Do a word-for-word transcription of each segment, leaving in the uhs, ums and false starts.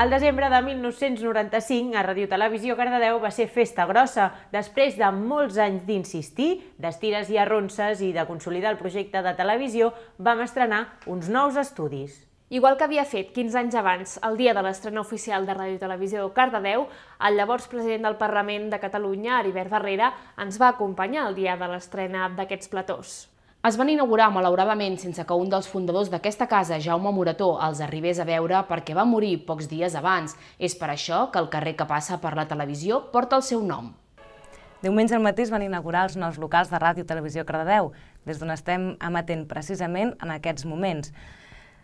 El desembre de mil nou-cents noranta-cinc, a Ràdio Televisió Cardedeu va ser festa grossa. Després de molts anys d'insistir, d'estires i arronses i de consolidar el projecte de televisió, vam estrenar uns nous estudis. Igual que havia fet quinze anys abans, el dia de l'estrena oficial de Ràdio Televisió Cardedeu, el llavors president del Parlament de Catalunya, Heribert Barrera, ens va acompanyar el dia de l'estrena d'aquests platós. Es van inaugurar malauradament sense que un dels fundadors d'aquesta casa, Jaume Morató, els arribés a veure perquè va morir pocs dies abans. És per això que el carrer que passa per la televisió porta el seu nom. Diumenge al matí es van inaugurar els nous locals de Ràdio Televisió Cardedeu, des d'on estem emetent precisament en aquests moments.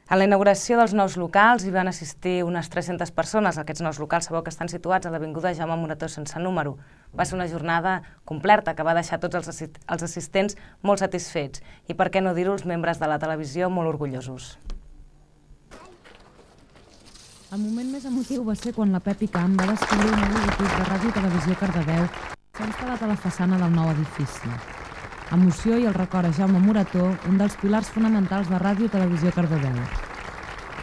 A la inauguració dels nous locals hi van assistir unes tres-centes persones. Aquests nous locals sabeu que estan situats a l'avinguda Jaume Morató sense número. Va ser una jornada completa que va deixar tots els assistents molt satisfets i, per què no dir-ho, els membres de la televisió molt orgullosos. El moment més emotiu va ser quan la Pepi Camp va descobrir un logotip de Ràdio Televisió Cardedeu que s'ha instal·lat a la façana del nou edifici. Emoció i el record a Jaume Morató, un dels pilars fonamentals de Ràdio Televisió Cardedeu.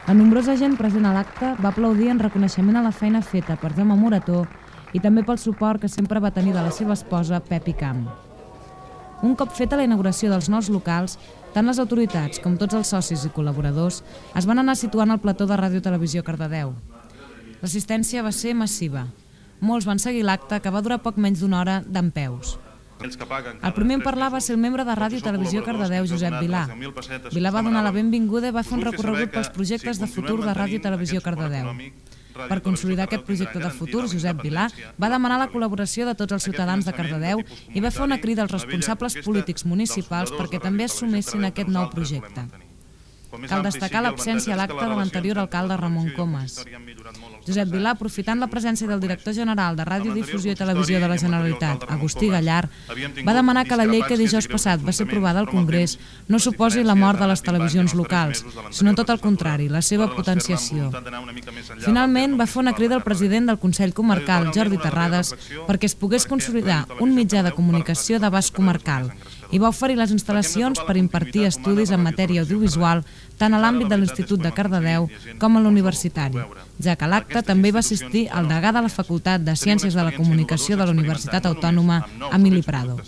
La nombrosa gent present a l'acte va aplaudir en reconeixement a la feina feta per Jaume Morató i també pel suport que sempre va tenir de la seva esposa, Pepi Camp. Un cop feta la inauguració dels nous locals, tant les autoritats com tots els socis i col·laboradors es van anar situant al plató de Ràdio Televisió Cardedeu. L'assistència va ser massiva. Molts van seguir l'acte, que va durar poc menys d'una hora dempeus. El primer en parlar va ser el membre de Ràdio Televisió Cardedeu, Josep Vilà. Vilà va donar la benvinguda i va fer un recorregut pels projectes de futur de Ràdio Televisió Cardedeu. Per consolidar aquest projecte de futur, Josep Vilà va demanar la col·laboració de tots els ciutadans de Cardedeu i va fer una crida als responsables polítics municipals perquè també assumessin aquest nou projecte. Cal destacar l'absència a l'acte de l'anterior alcalde Ramon Comas. Josep Vilà, aprofitant la presència del director general de Radiodifusió i Televisió de la Generalitat, Agustí Gallar, va demanar que la llei que dijous passat va ser aprovada al Congrés no suposi la mort de les televisions locals, sinó tot el contrari, la seva potenciació. Finalment, va fer una crida al president del Consell Comarcal, Jordi Terrades, perquè es pogués consolidar un mitjà de comunicació d'abast comarcal i va oferir les instal·lacions per impartir estudis en matèria audiovisual tant a l'àmbit de l'Institut de Cardedeu com a l'universitari, ja que a l'acte també va assistir el degà de la Facultat de Ciències de la Comunicació de la Universitat Autònoma, Emili Prado.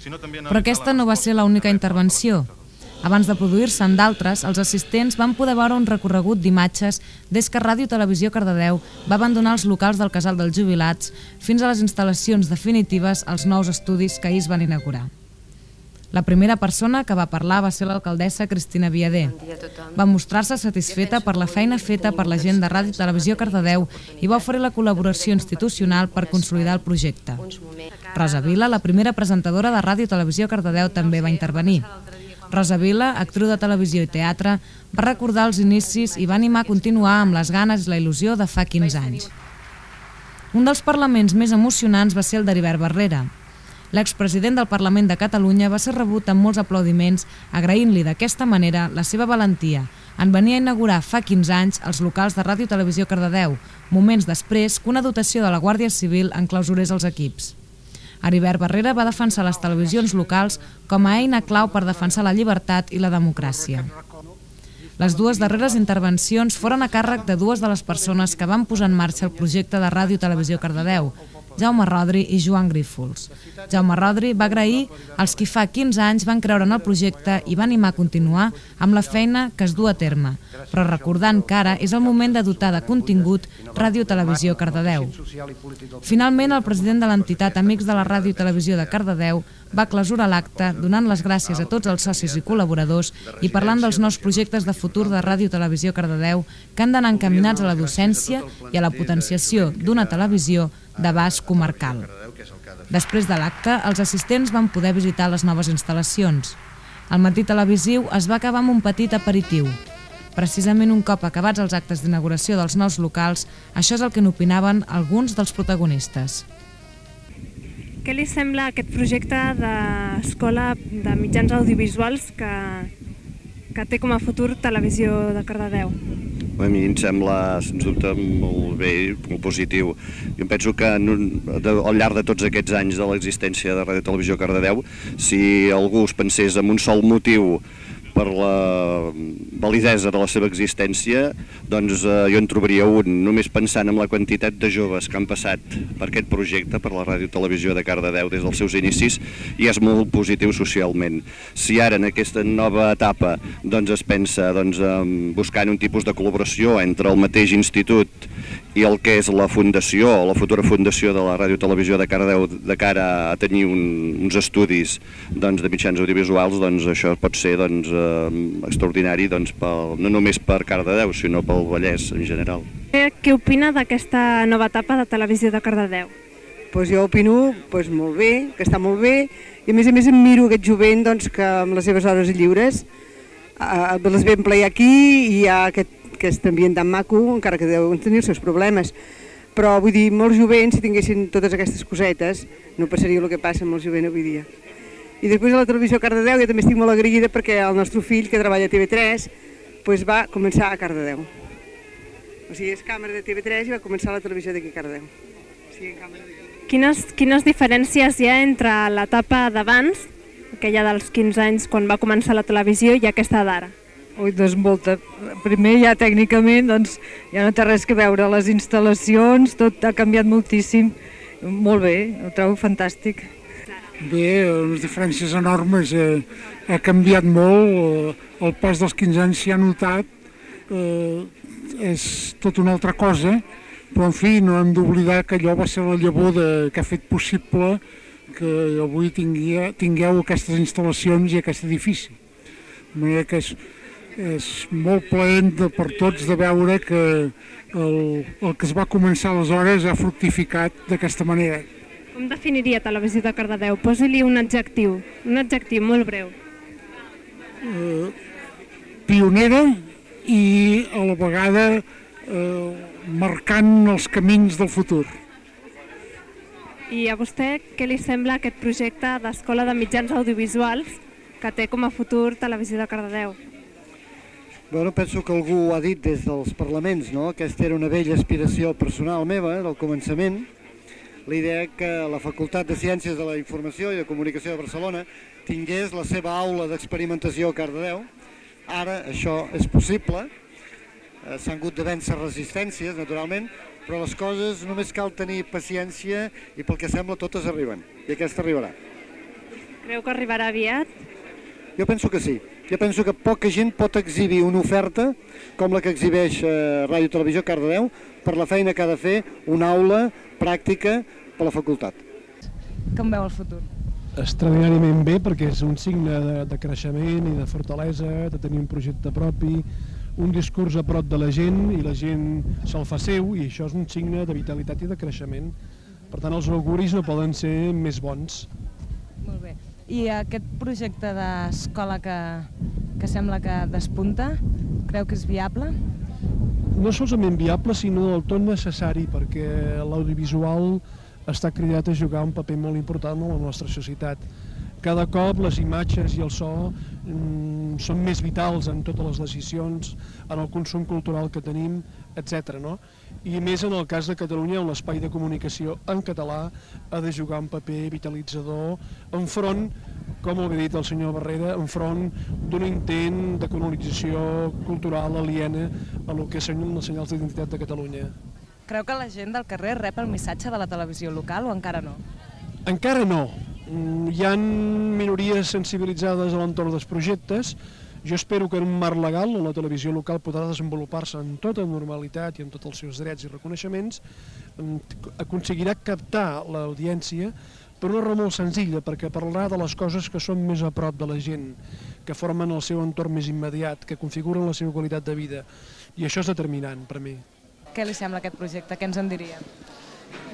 Però aquesta no va ser l'única intervenció. Abans de produir-se'n d'altres, els assistents van poder veure un recorregut d'imatges des que Ràdio Televisió Cardedeu va abandonar els locals del Casal dels Jubilats fins a les instal·lacions definitives als nous estudis que ahir es van inaugurar. La primera persona que va parlar va ser l'alcaldessa Cristina Viader. Va mostrar-se satisfeta per la feina feta per la gent de Ràdio Televisió Cardedeu i va oferir la col·laboració institucional per consolidar el projecte. Rosa Vila, la primera presentadora de Ràdio Televisió Cardedeu, també va intervenir. Rosa Vila, actriu de televisió i teatre, va recordar els inicis i va animar a continuar amb les ganes i la il·lusió de fa quinze anys. Un dels parlaments més emocionants va ser el d'Heribert Barrera. L'expresident del Parlament de Catalunya va ser rebut amb molts aplaudiments, agraint-li d'aquesta manera la seva valentia en venir a inaugurar fa quinze anys els locals de Ràdio Televisió Cardedeu, moments després que una dotació de la Guàrdia Civil enclausurés els equips. Heribert Barrera va defensar les televisions locals com a eina clau per defensar la llibertat i la democràcia. Les dues darreres intervencions foren a càrrec de dues de les persones que van posar en marxa el projecte de Ràdio Televisió Cardedeu, Jaume Rodri i Joan Grífols. Jaume Rodri va agrair als qui fa quinze anys van creure en el projecte i va animar a continuar amb la feina que es du a terme, però recordant que ara és el moment de dotar de contingut Ràdio Televisió Cardedeu. Finalment, el president de l'entitat Amics de la Ràdio Televisió de Cardedeu va clausurar l'acte donant les gràcies a tots els socis i col·laboradors i parlant dels nous projectes de futur de Ràdio Televisió Cardedeu que han d'anar encaminats a la docència i a la potenciació d'una televisió d'abast comarcal. Després de l'acte, els assistents van poder visitar les noves instal·lacions. El matí televisiu es va acabar amb un petit aperitiu. Precisament un cop acabats els actes d'inauguració dels nous locals, això és el que n'opinaven alguns dels protagonistes. Què li sembla aquest projecte d'escola de mitjans audiovisuals que, que té com a futur Televisió de Cardedeu? A mi em sembla, sens dubte, molt bé, molt positiu. Jo penso que al llarg de tots aquests anys de l'existència de Ràdio Televisió Cardedeu, si algú es pensés en un sol motiu per la validesa de la seva existència, doncs eh, jo en trobaria un, només pensant en la quantitat de joves que han passat per aquest projecte, per la Ràdio Televisió de Cardedeu des dels seus inicis, i és molt positiu socialment. Si ara en aquesta nova etapa doncs, es pensa doncs, en buscant un tipus de col·laboració entre el mateix institut i el que és la fundació, o la futura fundació de la Ràdio Televisió de Cardedeu de cara a tenir un, uns estudis doncs, de mitjans audiovisuals, doncs això pot ser doncs, eh, extraordinari doncs, pel, no només per Cardedeu, sinó pel Vallès en general. Què opina d'aquesta nova etapa de Televisió de Cardedeu? Pues jo opino pues, molt bé, que està molt bé, i a més a més em miro aquest jovent doncs, que amb les seves hores lliures eh, les ve emplear aquí i hi ha aquest aquest ambient tan maco, encara que deuen tenir els seus problemes. Però vull dir, molts jovents, si tinguessin totes aquestes cosetes, no passaria el que passa amb el jovent avui dia. I després a la Televisió Cardedeu jo també estic molt agraïda perquè el nostre fill, que treballa a T V tres, pues va començar a Cardedeu. O sigui, és càmera de T V tres i va començar a la televisió d'aquí a Cardedeu. O sigui, càmera d'aquí. Quines, quines diferències hi ha entre l'etapa d'abans, aquella dels quinze anys quan va començar la televisió, i aquesta d'ara? Ui, doncs molta. Primer ja tècnicament doncs, ja no té res que veure, les instal·lacions, tot ha canviat moltíssim. Molt bé, ho trobo fantàstic. Bé, les diferències enormes, eh, ha canviat molt, el pas dels quinze anys s'hi ha notat, eh, és tot una altra cosa, però en fi, no hem d'oblidar que allò va ser la llavor de, que ha fet possible que avui tingueu, tingueu aquestes instal·lacions i aquest edifici. De manera que és, és molt plaent de, per tots de veure que el, el que es va començar aleshores ha fructificat d'aquesta manera. Com definiria Televisió de Cardedeu? Posi-li un adjectiu, un adjectiu molt breu. Eh, pionera i a la vegada eh, marcant els camins del futur. I a vostè què li sembla aquest projecte d'Escola de Mitjans Audiovisuals que té com a futur Televisió de Cardedeu? Bueno, penso que algú ho ha dit des dels parlaments, no? Aquesta era una vella aspiració personal meva, del començament, la idea que la Facultat de Ciències de la Informació i de Comunicació de Barcelona tingués la seva aula d'experimentació a Cardedeu. Ara això és possible, s'han hagut de vèncer resistències, naturalment, però les coses només cal tenir paciència i pel que sembla totes arriben, i aquesta arribarà. Creu que arribarà aviat? Jo penso que sí. Jo penso que poca gent pot exhibir una oferta com la que exhibeix eh, Ràdio Televisió Cardedeu per la feina que ha de fer una aula pràctica per la facultat. Com veu el futur? Extraordinàriament bé, perquè és un signe de, de creixement i de fortalesa, de tenir un projecte propi, un discurs a prop de la gent i la gent se'l fa seu, i això és un signe de vitalitat i de creixement. Per tant, els auguris no poden ser més bons. Molt bé. I aquest projecte d'escola que, que sembla que despunta, creu que és viable? No solament viable, sinó del tot necessari, perquè l'audiovisual està cridat a jugar un paper molt important en la nostra societat. Cada cop les imatges i el so mm, són més vitals en totes les decisions, en el consum cultural que tenim, etcètera. No? I més en el cas de Catalunya, on l'espai de comunicació en català ha de jugar un paper vitalitzador enfront, com ho ha dit el senyor Barrera, enfront d'un intent de colonització cultural aliena a el que són els senyals d'identitat de Catalunya. Creu que la gent del carrer rep el missatge de la televisió local o encara no? Encara no. Hi ha minories sensibilitzades a l'entorn dels projectes. Jo espero que en un marc legal on la televisió local podrà desenvolupar-se en tota normalitat i amb tots els seus drets i reconeixements, aconseguirà captar l'audiència per una raó molt senzilla, perquè parlarà de les coses que són més a prop de la gent, que formen el seu entorn més immediat, que configuren la seva qualitat de vida. I això és determinant per mi. Què li sembla aquest projecte? Què ens en diria?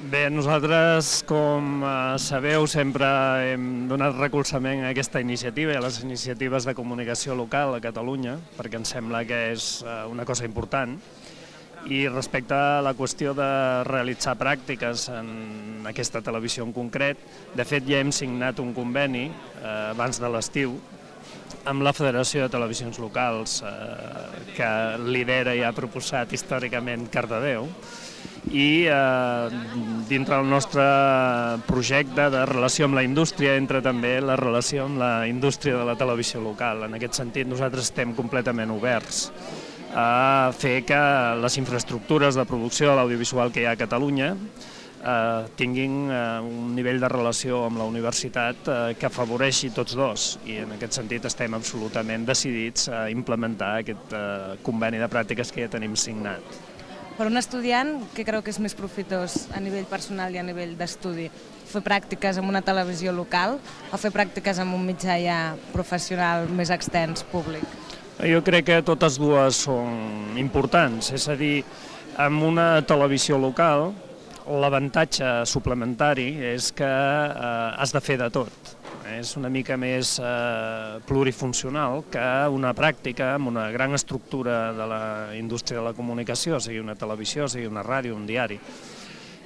Bé, nosaltres, com sabeu, sempre hem donat recolzament a aquesta iniciativa i a les iniciatives de comunicació local a Catalunya, perquè ens sembla que és una cosa important. I respecte a la qüestió de realitzar pràctiques en aquesta televisió en concret, de fet ja hem signat un conveni abans de l'estiu amb la Federació de Televisions Locals, que lidera i ha proposat històricament Cardedeu, i dintre del nostre projecte de relació amb la indústria entra també la relació amb la indústria de la televisió local. En aquest sentit nosaltres estem completament oberts a fer que les infraestructures de producció de l'audiovisual que hi ha a Catalunya tinguin un nivell de relació amb la universitat que afavoreixi tots dos, i en aquest sentit estem absolutament decidits a implementar aquest conveni de pràctiques que ja tenim signat. Per un estudiant, què creu que és més profitós a nivell personal i a nivell d'estudi? Fer pràctiques en una televisió local o fer pràctiques en un mitjà ja professional més extens, públic? Jo crec que totes dues són importants, és a dir, en una televisió local l'avantatge suplementari és que has de fer de tot. És una mica més plurifuncional que una pràctica amb una gran estructura de la indústria de la comunicació, sigui una televisió, sigui una ràdio, un diari.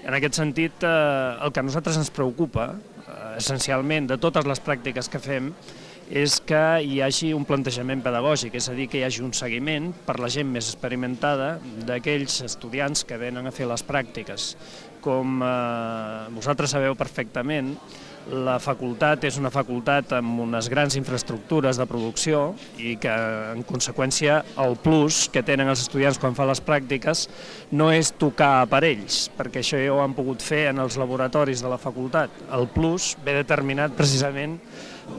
En aquest sentit, el que a nosaltres ens preocupa, essencialment, de totes les pràctiques que fem, és que hi hagi un plantejament pedagògic, és a dir, que hi hagi un seguiment per la gent més experimentada d'aquells estudiants que venen a fer les pràctiques. Com vosaltres sabeu perfectament, la facultat és una facultat amb unes grans infraestructures de producció i que, en conseqüència, el plus que tenen els estudiants quan fan les pràctiques no és tocar aparells, perquè això ja ho han pogut fer en els laboratoris de la facultat. El plus ve determinat precisament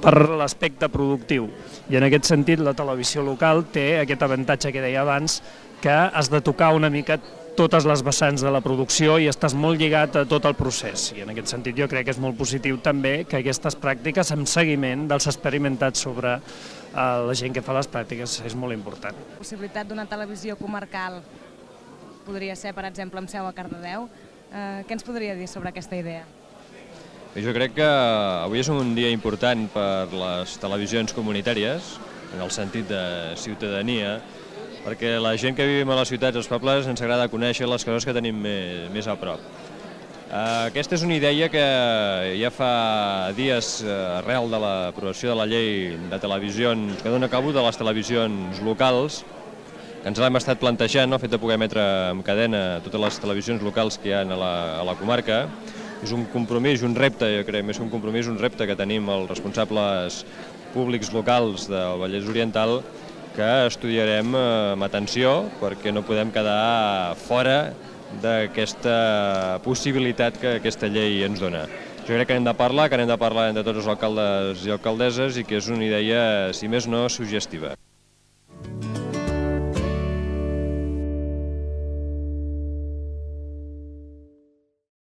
per l'aspecte productiu, i en aquest sentit la televisió local té aquest avantatge que deia abans, que has de tocar una mica totes les vessants de la producció i estàs molt lligat a tot el procés. I en aquest sentit jo crec que és molt positiu també que aquestes pràctiques amb seguiment dels experimentats sobre la gent que fa les pràctiques és molt important. La possibilitat d'una televisió comarcal podria ser, per exemple, amb seu a Cardedeu. Què ens podria dir sobre aquesta idea? Jo crec que avui és un dia important per les televisions comunitàries, en el sentit de ciutadania, perquè la gent que vivim a les ciutats i als pobles ens agrada conèixer les coses que tenim més a prop. Aquesta és una idea que ja fa dies, arrel de l'aprovació de la llei de televisions, que dona cabo de les televisions locals, que ens l'hem estat plantejant, el fet de poder emetre en cadena totes les televisions locals que hi ha a la comarca. És un compromís, un repte, jo crec, més que un compromís, un repte que tenim els responsables públics locals del Vallès Oriental, que estudiarem amb atenció perquè no podem quedar fora d'aquesta possibilitat que aquesta llei ens dona. Jo crec que n'hem de parlar, que n'hem de parlar entre tots els alcaldes i alcaldesses i que és una idea, si més no, suggestiva.